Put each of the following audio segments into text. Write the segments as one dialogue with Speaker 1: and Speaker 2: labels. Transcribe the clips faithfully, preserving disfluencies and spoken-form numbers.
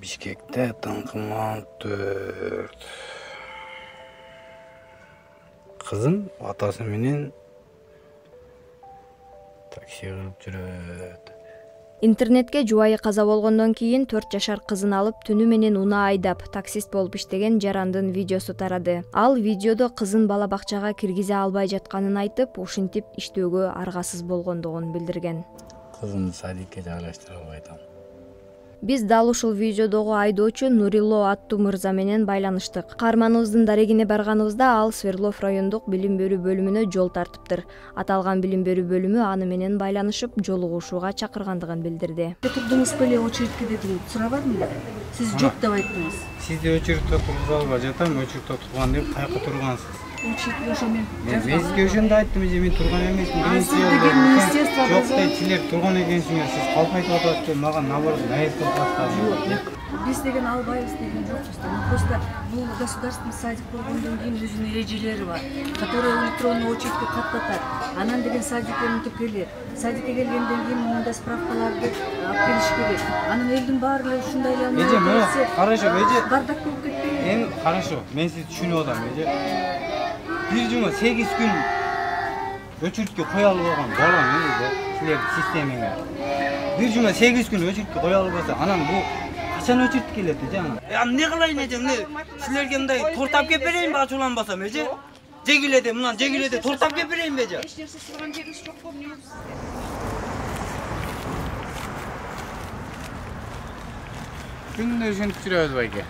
Speaker 1: Бишкекте таңкыман төрт. Кызым атасы менен такси кылып жүрөт.
Speaker 2: Интернетке жубайы каза болгондон кийин төрт жашар кызын алып түнү менен унаа айдап таксист болуп иштеген жарандын видеосу тарады. Ал видеодо кызын бала бакчага киргизе албай жатканын айтып, ушинтип иштөөгө аргасыз болгондугун билдирген.
Speaker 1: Кызымды садикке жайлаштыра албай атам.
Speaker 2: Биз дал ушул видеодогу айдоочу Нурило аттуу мырза менен байланыштык. Каарманыбыздын дарегине барганыбызда ал Свердлов райондук билим берүү бөлүмүнө жол тартыптыр. Аталган билим берүү бөлүмү аны менен байланышып, жолугушууга чакыргандыгын билдирди.
Speaker 3: Турдуңуз беле очередке дедим, сурабадымбы? Сиз жок деп айттыңыз.
Speaker 1: Сизди очередте тургуза албай жатам, очередте турган деп кайка тургансыз?
Speaker 3: Очередке ошо мен.
Speaker 1: Мен сизге ошондо айттым, эже мен турган эмесмин. Жок дейт, силер турган экенсиңер, сиз калпайтып атасыз деп мага наоборот наезд кылып баштады.
Speaker 3: Биз деген албайбыз деген жокпуз да. Просто бул государственный садик болгондон кийин өзүнүн эрежелери бар, которые электронный очередке каттатат. Анан деген садикке мынтип келет. Садикке келгенден кийин мындай справкаларды алып келиш керек. Анан элдин баары эле ушундай эле.
Speaker 1: Эже, мына карашо, эже.
Speaker 3: Бардак болуп кетпейби?
Speaker 1: Эми карашо, мен сизди түшүнүп атам, эже. Бир жума сегиз күн очередке кое албай койгон балам эже, силердин системаңар. Бир жума сегиз күн очередке кое албаса, анан бул качан очередке келет эже анан? А эмне кылайын эже, эмне силерге мындай тортап кеп берейинби ачууланбасам эже? Жегиледе, мына жегиледе тортап кеп берейинби эже?
Speaker 3: Эч нерсе сураган жерибиз жок болду.
Speaker 1: Күндө ушинтип жүрөбүз байке.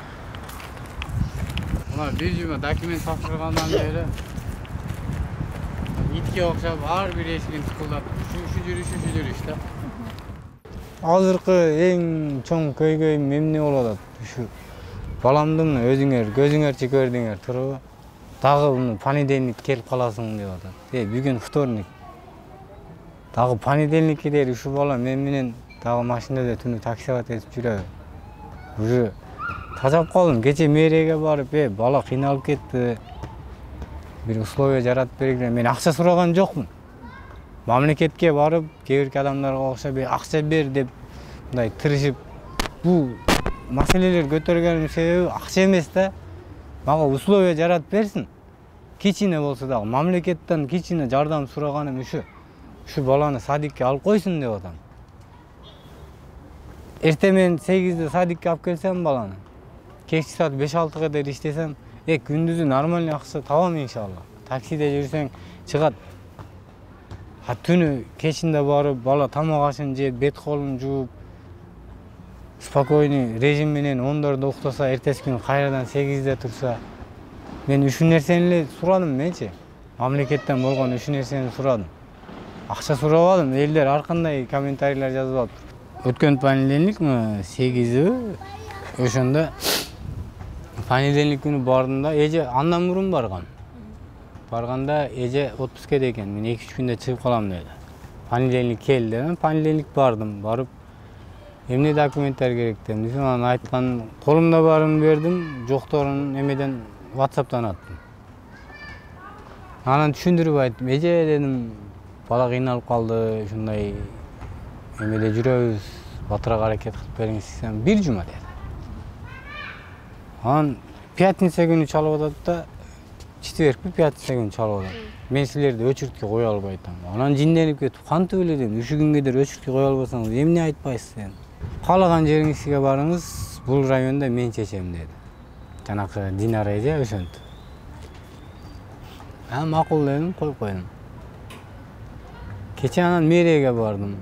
Speaker 1: Мына бир жума документ тапшыргандан бери итке окшоп ар бир эшигин тыкылдатып, ушу жүрүш, ушу жүрүш да. Азыркы эң чоң көйгөйүм эмне болуп атат? Ушу баламдын өзүңөр көзүңөрчү көрдүңөр, туурабы? Дагы муну понедельник келип каласың деп атат. Э, бүгүн вторник. Дагы понедельникке дейин ушу бала мен менен дагы машинада түнү таксига тесип жүрөбү. Уже тажап калдым. Кече мэриyaga барып, э, бала кыйналып кетти. Бир условия жаратып бергиле. Мен акча сураган жокмун. Мамлекетке барып, кээ бирки адамдарга окшоп, акча бер деп мындай тырышып, бул маселелер көтөргөнүн себеби акча эмес да. Мага условия жаратып берсин. Кичине болсо дагы мамлекеттен кичине жардам сураганым ушу. Ушу баланы садикке алып койсун деп атам. Эрте мен сегизде садикке алып келсем баланы, кечки саат беш алтыга дейин иштесем, э, күндүзү нормальный акча табам иншалла. Таксиде жүрсөң чыгат. А түнү кечинде барып, бала тамак ашын жеп, бет колун жууп, спокойный режим менен ондордо уктаса, эртеси күнү кайрадан сегизде турса, мен үч нерсени эле сурадым менчи. Мамлекеттен болгон үч нерсени сурадым. Акча сурабадым, элдер ар кандай комментарийлер жазып алып. Өткөн понедельник сегизи ошондо понедельник күнү бардым да, эже андан мурун барган. Барганда эже отпускеде экен, мен эки үч күндө чыгып калам деди. Понедельник кел дедим, понедельник бардым, барып эмне документтер керек дедим. Анан айткан колумда баарын бердим, жокторун эмеден WhatsApp'тан аттым. Анан түшүндүрүп айттым, эже дедим, бала кыйналып калды, ушундай эмеде жүрөбүз, батырак аракет кылып бериңиз десем, бир жума деди. Анан пятница күнү чалып атат да, четверг пятница күнү чалып атат. Мен силерди очередке кое албай атам. Анан жинденип кетип, кантип эле дедим, ушу күнгө дейин очередке кое албасаңыз эмне айтпайсыз дедим. Каалаган жериңизге барыңыз, бул районда мен чечем деди. Жанакы Динара эже ошентип. А макул дедим, коюп койдум. Кече анан мэриyaga бардым.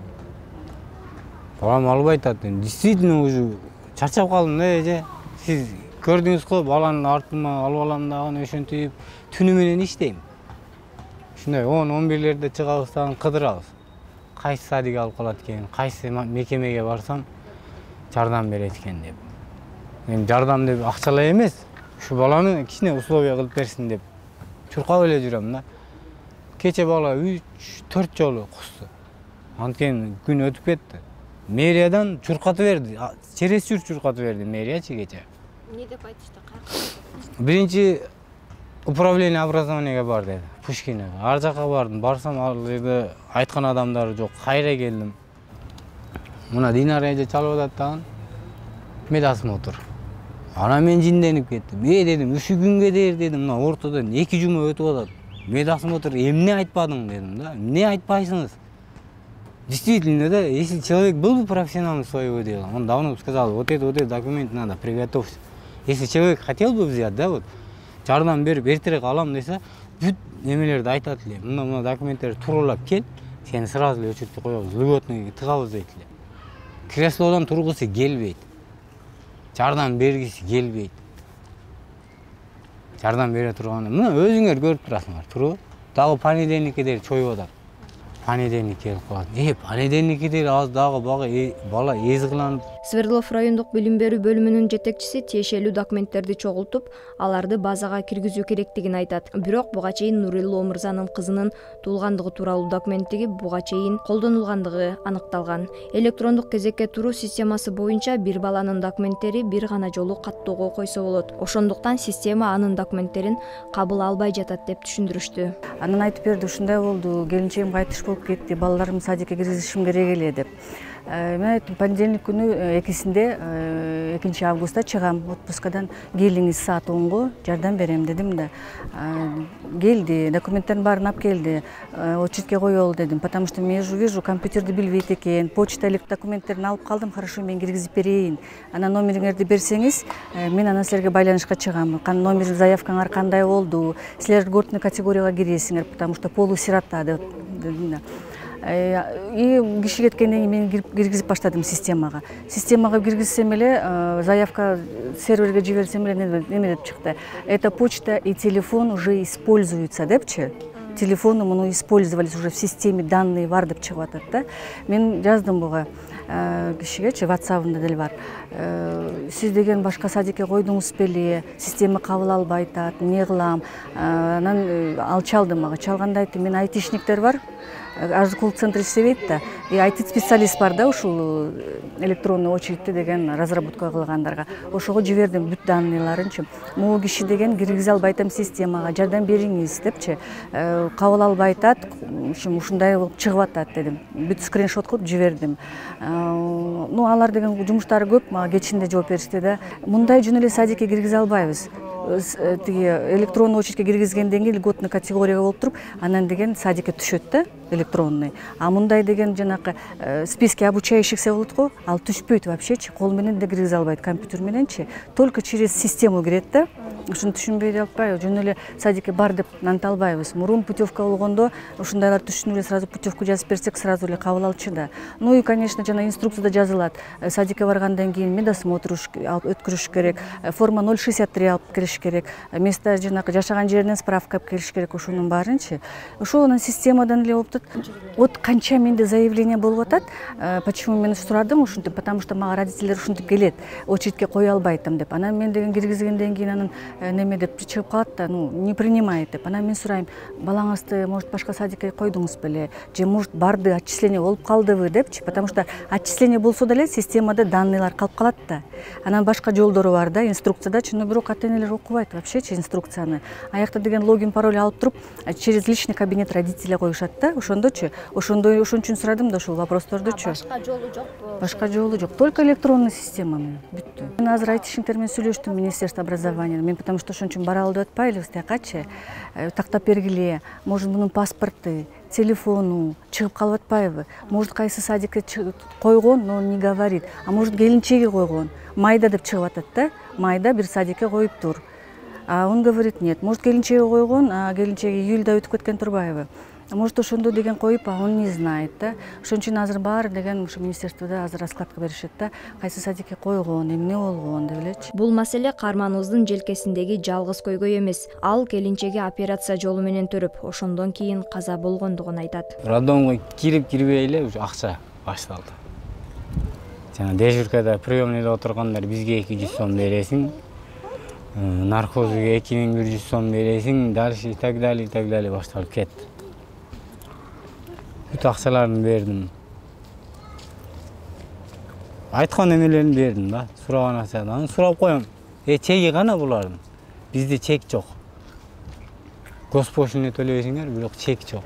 Speaker 1: Балам албай атат дедим. Действительно уже чарчап калдым да эже. Сиз көрдүңүз го, баланын артыма алып алам дагы ошентип түнү менен иштейм. Ушундай он он бирлерде чыгабыз дагы кыдырабыз. Кайсы садик алып калат экен, кайсы мекемеге барсам жардам берет экен деп. Мен жардам деп акчалай эмес, ушу баланы кичине условия кылып берсин деп чуркап эле жүрөм да. Кече бала үч төрт жолу кусту. Анткени күн өтүп кетти. Мэриядан чуркатып берди. Через чур чуркатып берди мэриячы кече.
Speaker 2: Не деп айтышты? Кайра?
Speaker 1: Биринчи управление образованияга бар деди. Пушкина. Ар жака бардым. Барсам ал жерде айткан адамдар жок. Кайра келдим. Мына Динара эже чалып атат дагы. медосмотр. Анан мен жинденип кеттим. Э дедим, үч күнгө дейер дедим, мына ортодон эки жума өтүп атат. Медосмотр эмне айтпадың дедим да. Эмне айтпайсыңыз? Действительно, да, если человек был бы профессионалом своего дела, он давно бы сказал, вот это, вот это документ надо, приготовься. Если человек хотел бы взять, да, вот, жардам берип эртерээк алам десе, бүт немелерди айтат эле. Мына мына документтерди тууралап кел, сени сразу эле өчүртүп коебуз, льготный тыгабыз дейт эле. Креслодон тургусу келбейт. Жардам бергиси келбейт. Жардам бере турганда, мына өзүңөр көрүп турасыңар, туруп. Дагы понедельникке чоюп атат. Понедельник келип калат. Э, понедельникке аз дагы бага бала эз кыланып.
Speaker 2: Свердлов райондук билим берүү бөлүмүнүн жетекчиси тиешелүү документтерди чогултуп, аларды базага киргизүү керектигин айтат. Бирок буга чейин Нурило мырзанын кызынын туулгандыгы тууралуу документтиги буга чейин колдонулгандыгы аныкталган. Электрондук кезекке туруу системасы боюнча бир баланын документтери бир гана жолу каттоого койсо болот. Ошондуктан система анын документтерин кабыл албай жатат деп түшүндүрүштү.
Speaker 3: Анан айтып берди, ушундай болду, келинчегим кайтыш болуп кетти, балдарымды садикке киргизишим керек эле деп. Мен айттым, понедельник күнү экисинде экинчи августта чыгам отпускадан, келиңиз саат онго жардам берем дедим да. Келди, документтердин баарын алып келди, очередке коелу дедим, потому что мен уже вижу, компьютерди билбейт экен, почта документтерин алып калдым, хорошо, мен киргизип берейин. Анан номериңерди берсеңиз, мен анан силерге байланышка чыгам. Номер заявкаңар кандай болду, силер льготный категорияга киресиңер, потому что полусирота дедим да. И киши кеткенден кийин мен киргизип баштадым системага. Системага киргизсем эле, заявка серверге жиберсем эле неме деп чыкты. Эта почта и телефон уже используются депчи. Телефоны муну использовались уже в системе, данные бар деп чыгып атат да. Мен жаздым буга кишигечи, WhatsApp-ында деле бар. Сиз деген башка садикке койдуңуз беле, система кабыл албай атат, эмне кылам? Анан ал чалды мага. Чалганда айттым, мен айтишниктер бар. Аж колл-центр иштебейт да. И ай ти-специалист бар да, ушул электронный очередти деген разработка кылгандарга. Ошого жибердим бүт данныйларынчы. Могу киши деген киргизе албай атам системага, жардам бериңиз депчи. Кабыл албай атат, ушундай болуп чыгып атат дедим. Бүт скриншот кылып жибердим. Ну, алар деген жумуштары көп, мага кечинде жооп беришти да. Мындай жөн эле садикке киргизе албайбыз. Тиги электронный очередке киргизгенден кийин льготный категорияга болуп туруп, анан деген садикке түшөт да, электронный. А мындай деген жанакы списке обучающихся болот го, ал түшпөйт вообще-чи, кол менен да киргизе албайт, компьютер мененчи, только через систему кирет да. Ушуну түшүнбөй атпайбы, жөн эле садикке бар деп нанта албайбыз. Мурун путевка болгондо ушундайлар түшүнүп эле сразу путевку жазып берсек, сразу эле кабыл алчу да. Ну и, конечно, жана инструкцияда жазылат. Садикке баргандан кийин медосмотр өткөрүш керек, форма ноль шестьдесят три алып келиш керек, место жанакы жашаган жеринен справка алып келиш керек, ошонун баарынчы. Ошол анан системадан эле болуп атат. Вот канча менде заявление болуп атат. Почему мен сурадым ушинтип, потому что мага родителер ушинтип келет, очередке кое албайтам деп. Анан мен деген киргизгенден кийин анан неме деп чыгып калат да, ну, не принимает деп. Анан мен сурайм, балаңызды, может, башка садикке койдуңуз беле, же может барды, отчисление болуп калдыбы депчи, потому что отчисление болсо деле системада данныйлар калып калат да. Анан башка жолдору бар да, инструкцияда, но бирок ата-энелер окубайт вообще-чи инструкцияны. Аякта деген логин, пароль алып туруп, через личный кабинет родителя коюшат да, ошондочу. Ошондой, ошон үчүн сурадым да ушул вопростордучу.
Speaker 2: Башка жолу жокпу?
Speaker 3: Башка жолу жок, только электронный система менен бүттү. Мен азыр айтишниктер менен сүйлөштүм, Министерство образования. Мен потому что ошон үчүн бара алып атпайлыбыз тиякачы. Тактап бергиле, может, мунун паспорты, телефону чыгып калып атпайбы? Может, кайсы садикке койгон, но он не говорит. А может, келинчеги койгон. Майда деп чыгып атат да. Майда бир садикке коюптур. А он говорит нет. Может, келинчеги койгон, а келинчеги июльда өтүп кеткен турбайбы? Может, ошондо деген коюп, а он не знает да. Ошон үчүн азыр баары деген ушу министерствода азыр раскладка беришет да. Кайсы садикке койгон, эмне болгон деп элечи.
Speaker 2: Бул маселе каарманыбыздын желкесиндеги жалгыз көйгөй эмес. Ал келинчеги операция жолу менен төрөп, ошондон кийин каза болгондугун айтат.
Speaker 1: Роддомго кирип кирбей эле уже акча башталды. Жана дежуркада приемныйда отургандар бизге эки жүз сом бересиң, наркозуга эки миң бир жүз сом бересиң, дальше и так далее, и так далее башталып кетти. Бүт акчаларын бердим. Айткан эмелерин бердим да, сураган акчадан. Сурап коем, э чеги кана булардын? Бизде чек жок. Госпошлина төлөйсүңөр, бирок чек жок.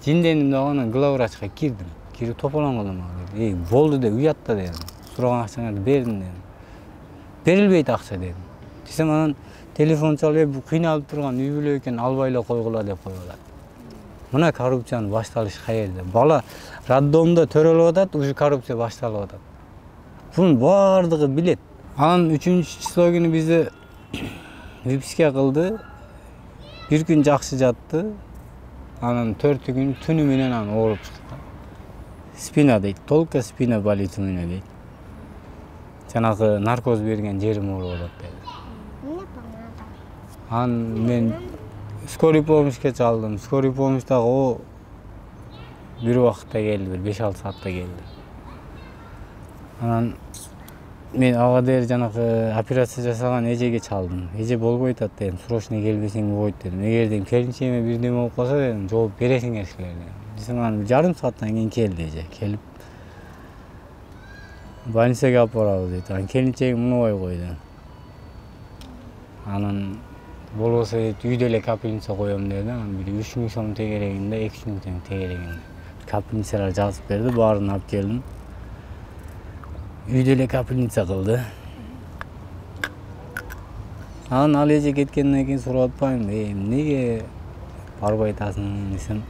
Speaker 1: Жиндендим дагы главврачка кирдим. Кирип тополоң кылдым. Э, болду деп уятта дедим. сураган акчаңарды бердим дедим. Берилбейт акча дедим. Десем анан телефон чалып, бул кыйналып турган үй бүлө экен, албай эле койгула деп коюп атат. Мына коррупциянын башталышы каерде? Бала роддомдо төрөлүп атат, уже коррупция башталып атат. Бунун баардыгы билет. Анан үчүнчү число күнү бизди выписка кылды. Бир күн жакшы жатты. Анан төртү күн түнү менен аны ооруп чыкты. Спина дейт, только спина болит у меня дейт. Жанагы наркоз берген жерим ооруп атат дейт. Анан мен скорый помощьке чалдым. Скорый помощь дагы о бир убакытта келди, бир беш алты саатта келди. Анан мен ага дээр жанагы операция жасаган эжеге чалдым. Эже болбойт атат дедим, срочно келбесең болбойт дедим. Эгер дем келинчегиме бирдеме болуп калса дедим, жооп бересиңер силер дедим. Десем анан жарым сааттан кийин келди эже. Келип больницага алып барабыз дейт. Анан келинчегим мунубай койду. Анан болбосо үйдө эле капельница коем деди. Анан бир үч миң сом тегерегинде, эки жүз миң тең тегерегинде. Капельницалар жазып берди, баарын алып келдим. Үйдө эле капельница кылды. Анан ал эже кеткенден кийин сурап атпаймынбы, э, эмнеге барбай атасың десем.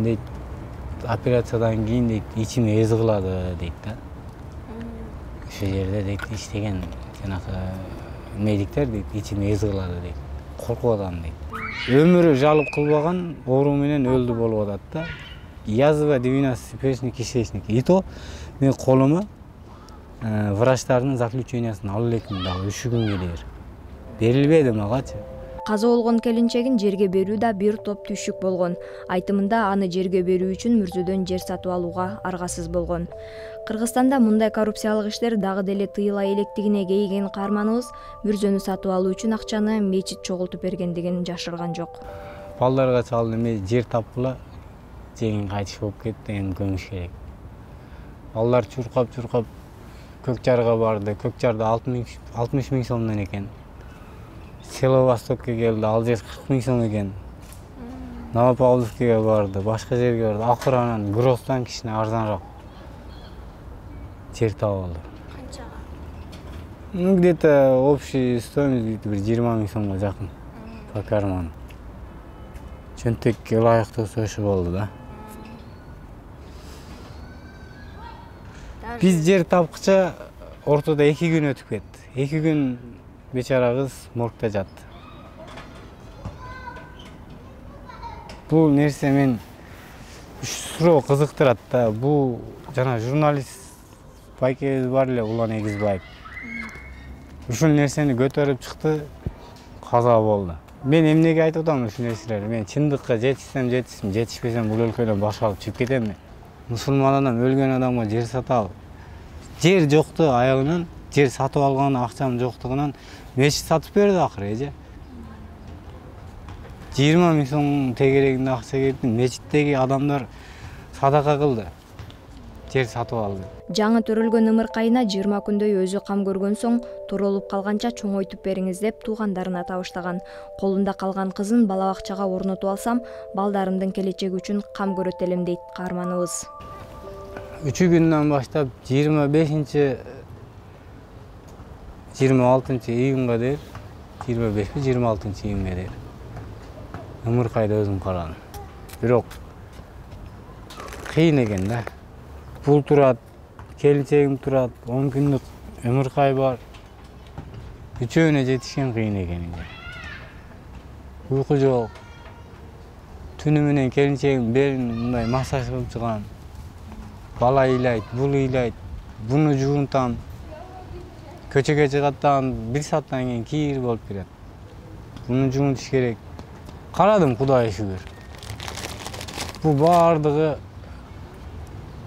Speaker 1: Дейт, операциядан кийин дейт, ичим эз кылады дейт да. Ошо жерде дейт иштеген жанагы медиктер дейт, ичим эз кылады дейт. Коркуп атам дейт. Өмүрү жалып кылбаган оору менен өлдү болуп атат да. Язва двенадцать перстник кишечник. И то мен колума врачтардын заключениясын алып электим дагы үч күнгө дейер. Берилбеди магачы.
Speaker 2: Каза болгон келинчегин жерге берүү да бир топ түйшүк болгон. Айтымында аны жерге берүү үчүн мүрзөдөн жер сатып алууга аргасыз болгон. Кыргызстанда мындай коррупциялык иштер дагы деле тыйыла электигине кейиген каарманыбыз мүрзөнү сатып алуу үчүн акчаны мечит чогултуп бергендигин жашырган жок.
Speaker 1: Балдарга чалдым, мен жер тапкыла, жеңин кайтыш болуп кетти, эми көмүш керек. Балдар чуркап-чуркап Көк Жарга барды. Көк Жарда алтымыш миң сомдон экен. Село Востокко келди, ал жер кырк миң сом экен. Новопавловскиге барды, башка жерге барды. Акыры анан Гростан кичине арзаныраак жер таап алды.
Speaker 4: Канчага?
Speaker 1: Ну, где-то общий стоимость бир жыйырма миң сомго жакын. По карману. Чөнтөккө ылайыктуу ошо болду да. Биз жер тапкыча ортодо эки күн өтүп кетти. эки күн бечара кыз моргда жатты. Бул нерсе мен суроо кызыктырат да. Бул жана журналист байкебиз бар эле, Улан Эгизбаев. Ушул нерсени көтөрүп чыкты, каза болду. Мен эмнеге айтып атам ушул нерселерди? Мен чындыкка жетишсем жетишсим, жетишпесем бул өлкөдөн баш алып чыгып кетемми? Мусулман адам өлгөн адамга жер сатабы? Жер жокту аягынан, жер сатып алган акчам жоктугунан мечит сатып берди акыры эже. жыйырма миң сом тегерегинде акча кетти, мечиттеги адамдар садака кылды. Жер сатып алды.
Speaker 2: Жаңы төрөлгөн ымыркайына жыйырма күндөй өзү кам көргөн соң турулуп калганча чоңойтуп бериңиз деп туугандарына табыштаган. Колунда калган кызын бала бакчага орнотуп алсам, балдарымдын келечеги үчүн кам көрөт элем дейт каарманыбыз.
Speaker 1: үч күндөн баштап жыйырма бешинчи жыйырма алтынчы июнга дейин, жыйырма бешпи жыйырма алтынчы июнга дейин ымыркайды өзүм карадым. Бирок кыйын экен да. Бул турат, келинчегим турат, он күндүк ымыркай бар. Үчөөнө жетишкен кыйын экен. Уйку жок. Түнү менен келинчегим белин мындай массаж кылып чыгам. Бала ыйлайт, бул ыйлайт, буну жуунтам. Көчөгө чыгаттан бир сааттан кийин кийир болуп берет. Буну жуунтуш керек. Карадым, Кудайга шүгүр. Бул баардыгы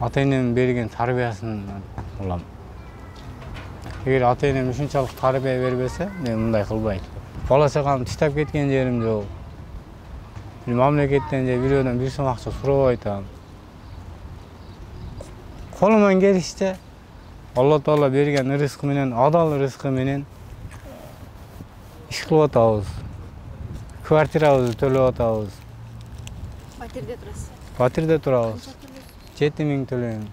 Speaker 1: ата-энем берген тарбиясынан улам. Эгер ата-энем ушунчалык тарбия бербесе, мен мындай кылбайт. Бала чагам тиштеп кеткен жерим жок. Мамлекеттен же бирөөдөн бир сом акча сурабай атам. Колуман келишче Алла Таала берген рызкы менен, адал рызкы менен иш кылып атабыз. Квартирабызды төлөп атабыз.
Speaker 4: Батирде турасыз?
Speaker 1: Батирде турабыз. жети миң төлөйм.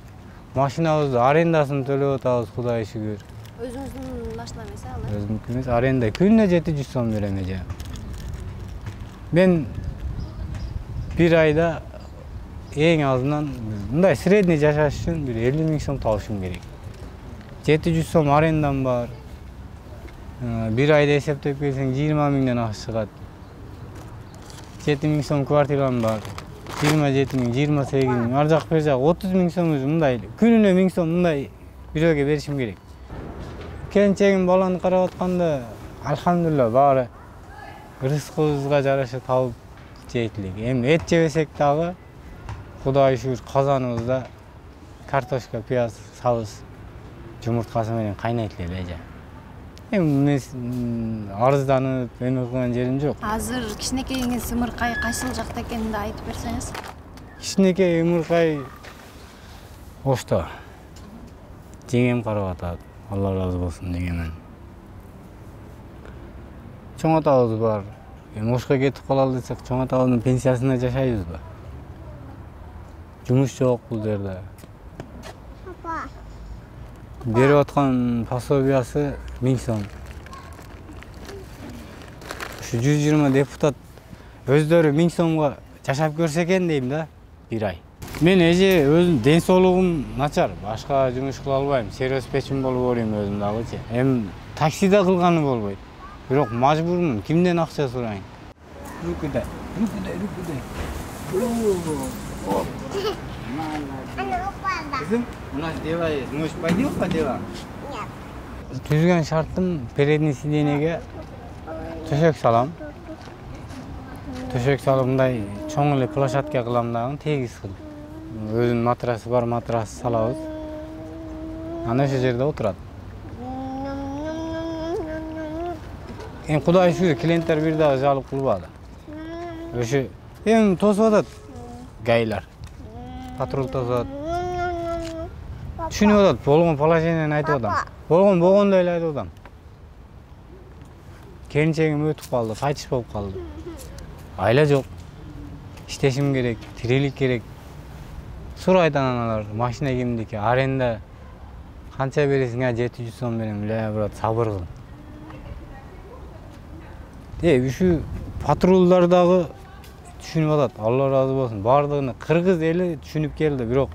Speaker 1: Машинабызды арендасын төлөп атабыз, Кудайга шүгүр.
Speaker 2: Өзүңүздүн машина эмес ал?
Speaker 1: Өзүмдүкү эмес, аренда күнүнө жети жүз сом берем эже. Мен бир айда эң азынан мындай средний жашаш үчүн бир элүү миң сом табышым керек. жети жүз сом арендам бар. Бир айда эсептеп келсең жыйырма миңден ашык чыгат. жети миң сом квартирам бар. жыйырма жети миң, жыйырма сегиз миң, ар жак бер жак отуз миң сом өзү мындай. Күнүнө миң сом мындай бирөөгө беришим керек. Келинчегим баланы карап атканда, алхамдулилла баары рызкыбызга жараша табып жейт элек. Эми эт жебесек дагы Кудайга шүгүр казаныбызда картошка, пияз, сабыз, жумурткасы менен кайнайт эле эже. Эми мен арызданып эме кылган жерим жок.
Speaker 2: Азыр кичинекейиңиз Ымыркай кайсыл жакта экенин да айтып берсеңиз.
Speaker 1: Кичинекей Ымыркай Ошто. Жеңем карап атат. Алла разы болсун жеңемден. Чоң атабыз бар. Эми Ошко кетип калалы десек, чоң атабыздын пенсиясына жашайбызбы? Жумуш жок бул жерде. Берип аткан пособиясы миң сом. Ушу жүз жыйырма депутат өздөрү миң сомго жашап көрсө экен дейм да, бир ай. Мен эже өзүм ден соолугум начар, башка жумуш кыла албайм, сервис-печим болуп оройм өзүм дагычы. Эми таксиде кылганы болбойт. Бирок мажбурмун, кимден акча сурайын? Рукудай, рукудай, рукудай. Кызым, у нас дела есть. Может, пойдем по делам? Нет. Түзгөн шартым передний сиденьеге төшөк салам. Төшөк салып мындай чоң эле площадка кылам дагы, тегиз кылып. Өзүнүн матрасы бар, матрас салабыз. Ана ошол жерде отурат. Эми Кудайга шүгүр клиенттер бир дагы жалып кылбады. Ошо эми тосуп атат гайлар. Патруль тосуп атат. Түшүнүп атат, болгон положениени айтып атам. Болгон болгондой эле айтып атам. Келинчегим өтүп калды, кайтыш болуп калды. Айла жок. Иштешим керек, тирелик керек. Сурайт аналар, машина кимдики, аренда канча бересиң? жети жүз сом берем. Эле брат, сабыр кыл. Э, ушу патрулдар дагы түшүнүп атат. Алла разы болсун. Бардыгына кыргыз эли түшүнүп келди, бирок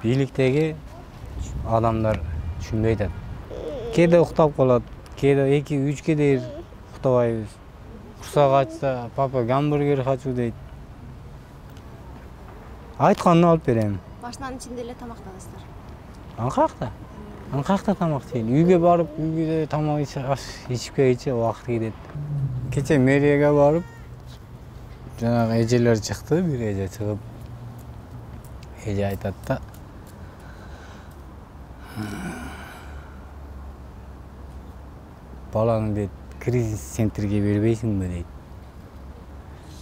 Speaker 1: бийликтеги адамдар түшүнбөй атат. Кээде уктап калат, кээде эки үчкө дейин уктабайбыз. Курсак ачса, папа гамбургер хочу дейт. Айтканын алып берем.
Speaker 2: Машинанын ичинде эле тамактанасыздар.
Speaker 1: Анкакта. Анкакта тамак жейли. Үйгө барып, үйгө тамак ичип келчи убакыт кетет. Кече мэрияга барып, жанагы эжелер чыкты, бир эже чыгып, эже айтат да, баланы дейт, кризис центрге бербейсиңби дейт.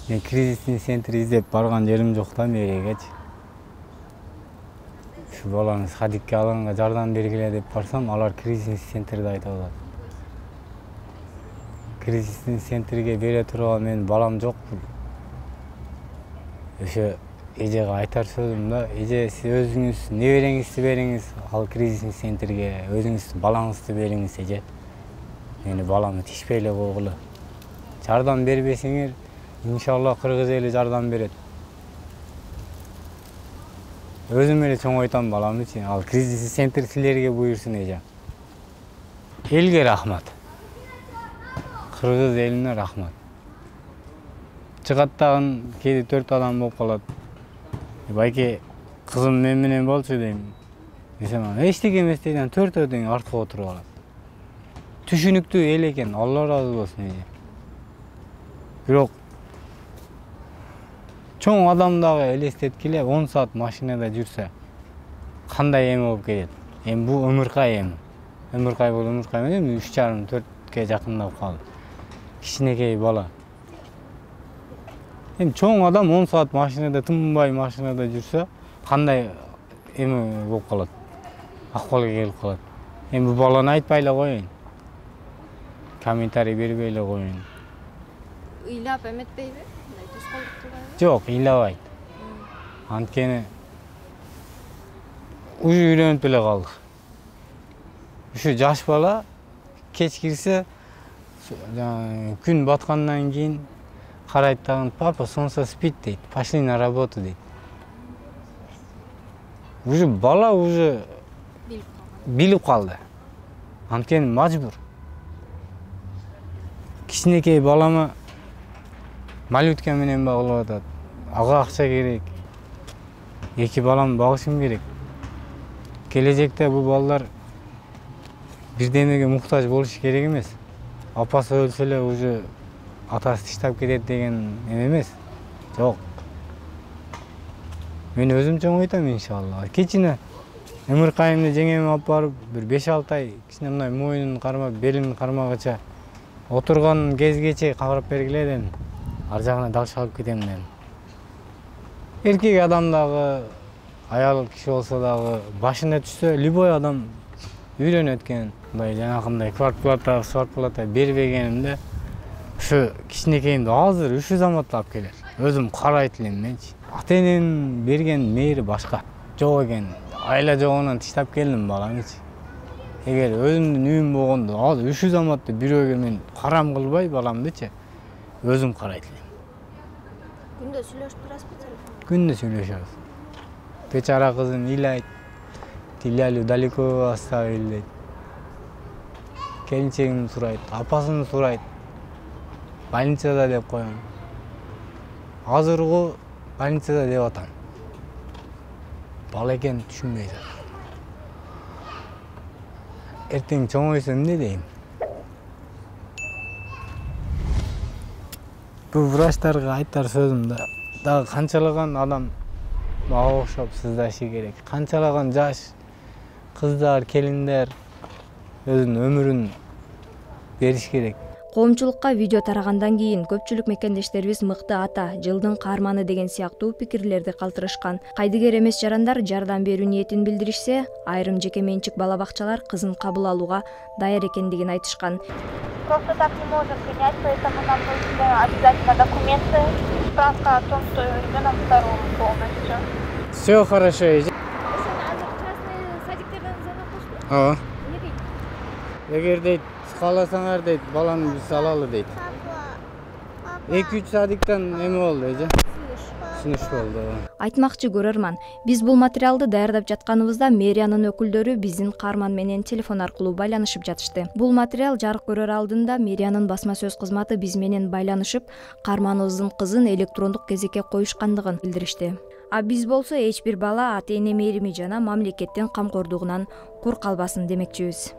Speaker 1: Мен кризисный центр издеп барган жерим жок да мэриягачы. Ушу баланы садикке алганга жардам бергиле деп барсам, алар кризисный центрди айтып атат. Кризисный центрге бере турган менин балам жокпу. Ошо эжеге айтар сөзүм да, эже сиз өзүңүз небереңизди бериңиз, ал кризисный центрге өзүңүздүн балаңызды бериңиз эже. Мени баламды тишпей эле койгула. Жардам бербесеңер, иншалла кыргыз эли жардам берет. Өзүм эле чоңойтам баламдычы. Ал кризисный центр силерге буйрсун эже. Элге рахмат. Кыргыз элине рахмат. Чыгат дагы кээде төрт адам болуп калат. Байке, кызым мен менен болчу дейм. Десем, эчтеке эмес дейт, төртөө тең артка отуруп алат. Түшүнүктүү эл экен, Алла разы болсун эже. Бирок чоң адам дагы элестеткиле, он саат машинада жүрсө кандай эме болуп кетет. Эми бул Ымыркай эми. Ымыркай бул Ымыркай менен үч жарым төрткө жакындап калды. Кичинекей бала. Эми чоң адам он саат машинада, тынбай машинада жүрсө кандай эме болуп калат. Акыбалга келип калат. Эми бул баланы айтпай эле коеюн. Комментарий бербей эле коеюн.
Speaker 2: Ыйлап эметпейби? Мындай тоскоолдук кылбайбы?
Speaker 1: Жок, ыйлабайт. Анткени уже үйлөнүп эле калдык. Ушу жаш бала кеч кирсе, күн баткандан кийин карайт дагы, папа солнце спит дейт, пошли на работу дейт. Уже бала уже билип калды. Анткени мажбур. Кичинекей балама малютка менен багылып атат. Ага акча керек. Эки баламды багышым керек. Келечекте бул балдар бирдемеге муктаж болуш керек эмес. Апасы өлсө эле уже атасы таштап кетет деген эме эмес. Жок. Мен өзүм чоңойтам иншалла. Кичине ымыркайымды жеңеме алып барып, бир беш алты ай кичине мындай моюнун кармап, белин кармагыча отурган кезгече кагырып бергиле дедим. Ар жагына дагы алып кетем дедим. Эркек адам дагы, аял киши болсо дагы башына түшсө, любой адам үйлөнөт экен. Мындай жанакындай квартплата, свартплата бербегенимде ушу кичинекейимди азыр ушу заматта алып келер. Өзүм карайт элем менчи. Ата-эненин берген мээри башка. Жок экен. Айла жогунан таштап келдим баламычы. Эгер өзүмдүн үйүм болгондо, азыр ушу заматта бирөөгө мен карам кылбай баламдычы, өзүм карайт элем.
Speaker 2: Күндө сүйлөшүп турасызбы телефонда?
Speaker 1: Күндө сүйлөшөбүз. Бечара кызым ыйлайт. Тилялю далеко оставили дейт. Келинчегин сурайт, апасын сурайт. Больницада деп коем. Азыркы больницада деп атам. Бала экен түшүнбөй атат. Эртең чоңойсо эмне дейм? Бул врачтарга айтар сөзүм да, дагы канчалаган адам мага окшоп сыздашы керек. Канчалаган жаш кыздар, келиндер өзүнүн өмүрүн бериш керек.
Speaker 2: Коомчулукка видео тарагандан кийин көпчүлүк мекендештерибиз мыкты ата, жылдын каарманы деген сыяктуу пикирлерди калтырышкан. Кайдыгер эмес жарандар жардам берүү ниетин билдиришсе, айрым жеке менчик бала бакчалар кызын кабыл алууга даяр экендигин айтышкан.
Speaker 4: Просто так не можем принять, поэтому нам нужны обязательно документы, справка о том, что ребенок здоров полностью.
Speaker 1: Все хорошо. Ооба. Эгер дейт кааласаңар дейт, баланы биз алалы дейт. эки үч садиктан эме болду эже. Сунуш болду.
Speaker 2: Айтмакчы көрөрман, биз бул материалды даярдап жатканыбызда мэриянын өкүлдөрү биздин каарман менен телефон аркылуу байланышып жатышты. Бул материал жарык көрөр алдында мэриянын басма сөз кызматы биз менен байланышып, каарманыбыздын кызын электрондук кезекке коюшкандыгын билдиришти. А биз болсо эч бир бала ата-эне мээрими жана мамлекеттин камкордугунан кур калбасын демекчибиз.